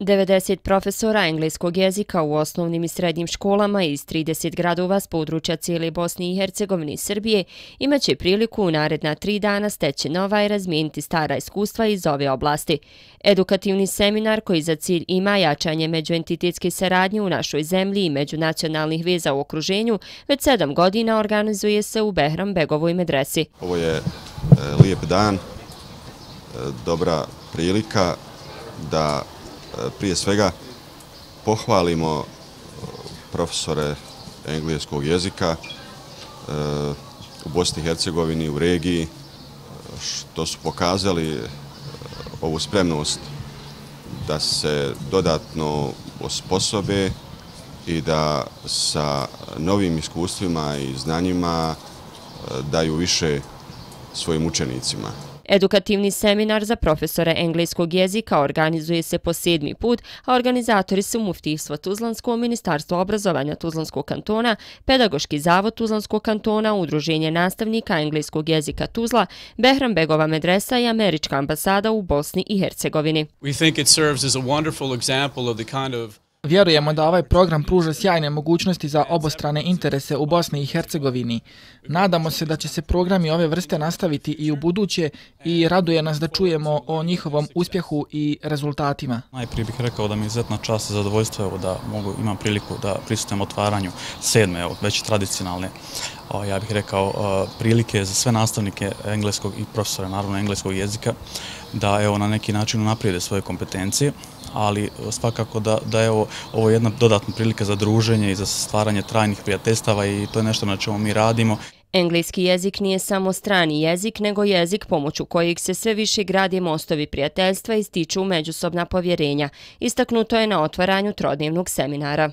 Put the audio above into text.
90 profesora engleskog jezika u osnovnim i srednjim školama iz 30 gradova s područja cijele Bosne i Hercegovine i Srbije imaće priliku u naredna 3 dana steći nova i razmijeniti stara iskustva iz ove oblasti. Edukativni seminar koji za cilj ima jačanje međuentitetske saradnje u našoj zemlji i međunacionalnih veza u okruženju već 7 godina organizuje se u Behrambegovoj medresi. Ovo je lijep dan, dobra prilika da prije svega pohvalimo profesore engleskog jezika u Bosni i Hercegovini, u regiji, što su pokazali ovu spremnost da se dodatno osposobe i da sa novim iskustvima i znanjima daju više svojim učenicima. Edukativni seminar za profesore engleskog jezika organizuje se po 7. put, a organizatori su Muftijstvo Tuzlansko, Ministarstvo obrazovanja Tuzlanskog kantona, Pedagoški zavod Tuzlanskog kantona, Udruženje nastavnika engleskog jezika Tuzla, Behrambegova medresa i Američka ambasada u Bosni i Hercegovini. Vjerujemo da ovaj program pruža sjajne mogućnosti za obostrane interese u Bosni i Hercegovini. Nadamo se da će se programi ove vrste nastaviti i u buduće i raduje nas da čujemo o njihovom uspjehu i rezultatima. Najprije bih rekao da mi je izuzetna čast i zadovoljstvo da imam priliku da prisustvujem otvaranju 7. već tradicionalne, ja bih rekao, prilike za sve nastavnike engleskog i profesora, naravno engleskog jezika, da na neki način unaprijede svoje kompetencije, ali svakako da je ovo jedna dodatna prilika za druženje i za stvaranje trajnih prijateljstava i to je nešto na čemu mi radimo. Engleski jezik nije samo strani jezik, nego jezik pomoću kojeg se sve više grade mostovi prijateljstva i stiču međusobna povjerenja. Istaknuto je na otvaranju trodnevnog seminara.